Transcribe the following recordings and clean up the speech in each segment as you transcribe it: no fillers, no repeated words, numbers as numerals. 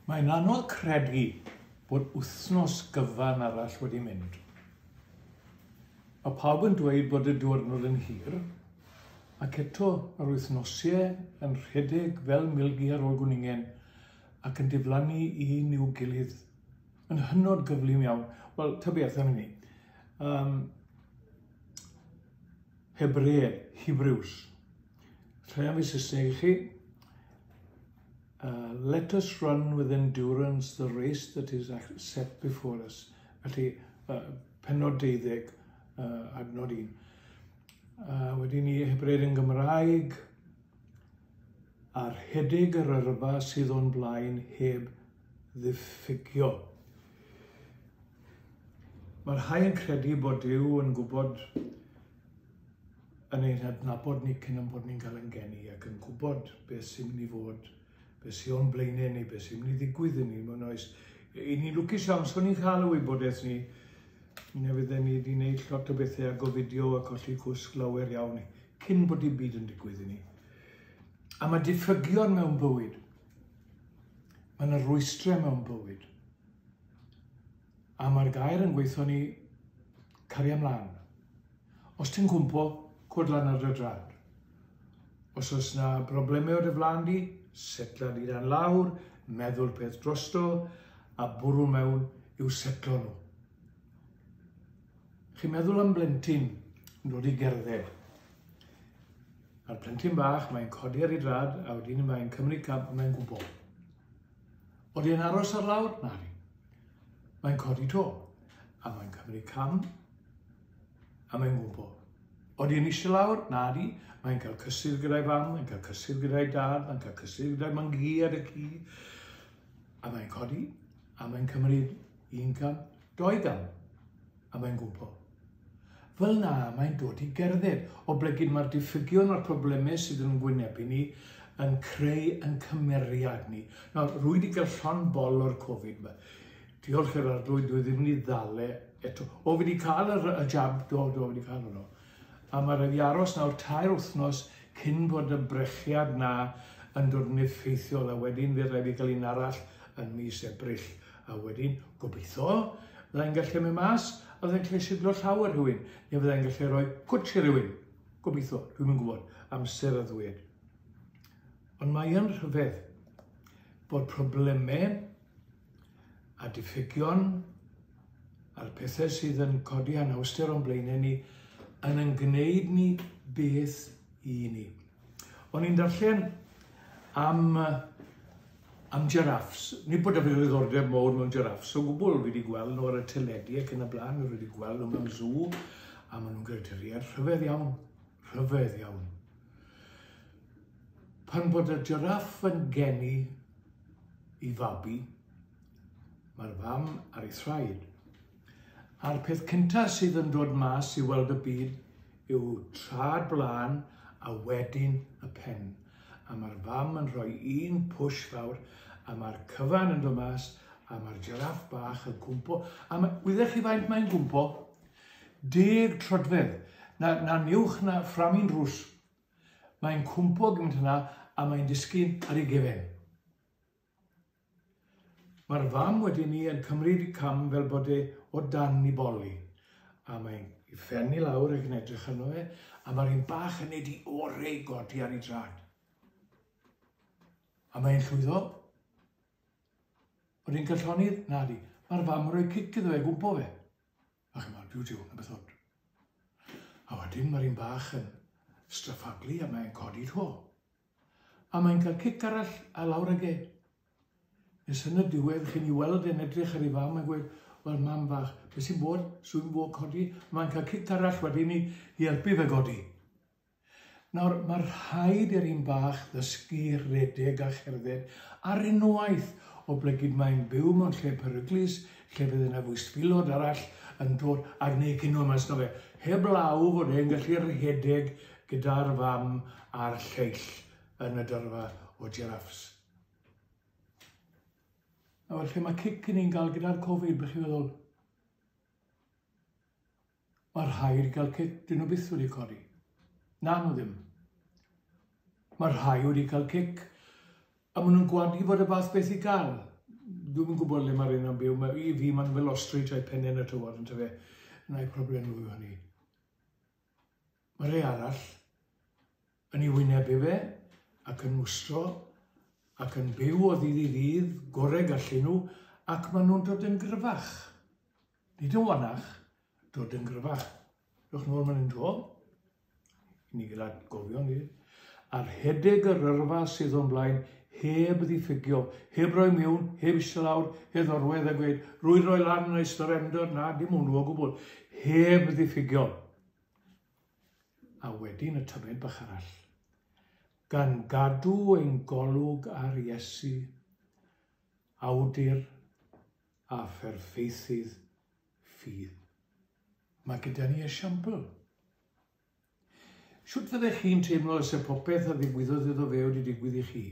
Mae'n anodd credu bod wythnos gyfan arall wedi mynd. Mae pawb yn dweud bod y diwrnod yn hir, ac eto mae'r wythnosiau yn rhedeg fel milgi ar ôl gwningen ac yn diflannu un i'w gilydd yn hynod gyflym iawn. Wel, ta beth am hynny. Um, Hebreeg, Hebrews. Rhai am fi Saesneg i chi. Let us run with endurance the race that is set before us. Felly, pennod deuddeg, adnod 1. Wedyn ni Hebreid yn Gymraeg, a rhedeg yr yrfa sydd o'n blaen heb ddiffygio. Mae rhai yn credu bod Duw yn gwybod yn ein hadnabod ni cyn ein bod ni'n cael ein geni ac yn gwybod beth sy'n mynd i fod, beth sy'n o'n blaenau ni, beth sy'n mynd i ddigwydd i ni mewn oes. I ni'n lwcus iawn, so ni'n cael y wybodaeth ni, neu fydden ni wedi gwneud lot o bethau a gofidio a colli cwsg lawer iawn cyn bod dim byd yn digwydd i ni. A mae diffygion mewn bywyd. Mae yna rwystrau mewn bywyd. A mae'r gair yn gweithio ni cario ymlaen. Os ti'n cwmpo, cod lan ar dy drad. Os oes na broblemau o dy flaen di, setla di dan lawr, meddwl peth drosto, a bwrw mewn i'w setlo nhw. Chi'n meddwl am blentyn yn dod i gerdded. A'r plentyn bach, mae'n codi ar ei drad, a wedyn mae'n cymryd cam, a mae'n gwmpo. Odi e'n aros ar lawr? Na di. Mae'n codi to, a mae'n cymryd cam, a mae'n gwmpo. Odi e'n eisiau lawr? Na di. Mae'n cael cysur gyda'i fam, mae'n cael cysur gyda'i dad, mae'n cael cysur gyda'i mangu a dy ci. A mae'n codi, a mae'n cymryd un cam, doi gam, a mae'n gwmpo. Fel na, mae'n dod i gerdded, oblegid mae'r diffygion a'r problemau sydd yn gwynebu ni yn creu yn cymeriad ni. Nawr, rwy wedi cael llond bol o'r Covid yma. Diolch i'r arglwydd, dwi ddim wedi ddal e eto. O, fi wedi cael y, y jab, do, do, fi wedi cael hwnnw. A mae rhaid i aros nawr tair wythnos cyn bod y brechiad na yn dod yn effeithiol, a wedyn fydd rhaid fi gael un arall yn mis Ebrill. A wedyn, gobeithio, fyddai'n gallu mynd mas a fyddai'n gallu siglo llaw ar rhywun, neu fyddai'n gallu rhoi cwtsh i rhywun. Gobeithio, dwi'm yn gwybod, amser a ddwed. Ond mae yn rhyfedd bod problemau a diffygion a'r pethau sydd yn codi anhawster o'n blaenau ni yn yn gwneud ni beth i ni. O'n i'n darllen am, am giraffes. Nid bod 'da fi ddiddordeb mawr mewn giraffes o gwbl. Fi wedi gweld nhw ar y teledu ac yn y blaen, fi wedi gweld nhw mewn zoo, a maen nhw'n greaduriaid rhyfedd iawn, rhyfedd iawn. Pan bod y giraff yn geni i fabi, mae'r fam ar ei thraed. A'r peth cyntaf sydd yn dod mas i weld y byd yw trad blaen a wedyn y pen. A mae'r fam yn rhoi un push fawr a mae'r cyfan yn dod mas a mae'r jiraff bach yn cwmpo. A mae, wyddech chi faint mae'n gwmpo? Deg troedfedd. Na, na uwch na fframi'n drws. Mae'n cwmpo gymaint yna a mae'n disgyn ar ei gefen. Mae'r fam wedyn ni yn cymryd y cam fel bod e o dan i boli. A mae'n i phen i lawr ac yn edrych arno fe, a mae'r un bach yn neud i orau i godi ar ei drad. A mae'n llwyddo. Oedden cael llonydd? Na di. Mae'r fam yn rhoi cic iddo fe, gwmpo fe. A chi'n meddwl, duw, duw, na beth od. A wedyn mae'r un bach yn straffaglu a mae'n codi to. A mae'n cael cic arall a lawr ag e. Nes yn y diwedd, chi'n ei weld e'n edrych ar ei fam a gweud, wel mam fach, beth sy'n bod? Swy'n bod codi? Mae'n cael cic arall wedyn i, i helpu fe godi. Nawr, mae rhaid i'r un bach ddysgu rhedeg a cherdded ar unwaith, oblegid mae'n byw mewn lle peryglus, lle fydd yna fwystfilod arall yn dod a gwneud cinio mas na fe, heblaw fod e'n gallu rhedeg gyda'r fam a'r lleill yn y dyrfa o jiraffs. Nawr, lle mae cic yn ni'n gael gyda'r Covid, bych chi'n feddwl? Mae rhai wedi cael cic, dyn nhw byth wedi codi. Na, nhw ddim. Mae rhai wedi cael cic, a maen nhw'n gwadu fod y fath beth i gael. Dwi'm yn gwybod le mae'r un yn byw. Mae, I fi, mae'n fel ostrich a'i pennau yn y tywod, yn tyfe. Na'i problem nhw yw hynny. Mae rhai arall yn ei wynebu fe ac yn mwstro ac yn byw o ddydd i ddydd, gorau gallu nhw, ac maen nhw'n dod yn gryfach. Nid yn wanach, dod yn gryfach. Dewch nôl man hyn 'to. I ni gael atgofion ni. A rhedeg yr yrfa sydd o'n blaen heb ddiffygio, heb roi miwn, heb eistedd lawr, heb orwedd a gweud, rwy roi lan neu surrender, na, dim hwnnw o gwbl. Heb ddiffygio. A wedyn y tymed bach arall. Gan gadw ein golwg ar Iesu, awdur a pherffeithydd ffydd. Mae gyda ni esiampl. Shwt fyddech chi'n teimlo os y popeth a ddigwyddodd iddo fe wedi digwydd i chi?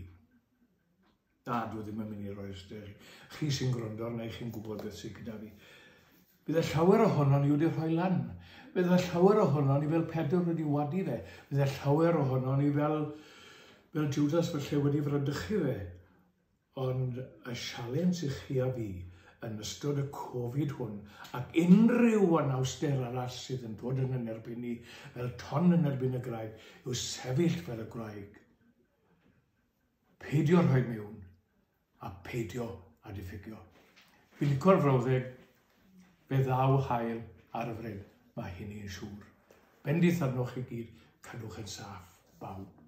Na, dwi ddim yn mynd i roi'r ystyr. Chi sy'n gwrando arna i, chi'n gwybod beth sydd gyda fi. Bydde llawer ohono ni wedi rhoi lan. Bydde llawer ohono ni fel Pedr wedi wadu fe. Bydde llawer ohono ni fel, fel Judas felly wedi fradychu fe. Ond y sialens i chi a fi yn ystod y Covid hwn ac unrhyw anawster arall sydd yn dod yn yn erbyn ni fel ton yn erbyn y graig yw sefyll fel y gwraig. Peidio rhoi mewn a peidio â diffygio. Fi'n licio'r frawddeg, fe ddaw haul ar y fryn, mae hynny yn siŵr. Bendith arnoch chi gyd, cadwch yn saff, bawb.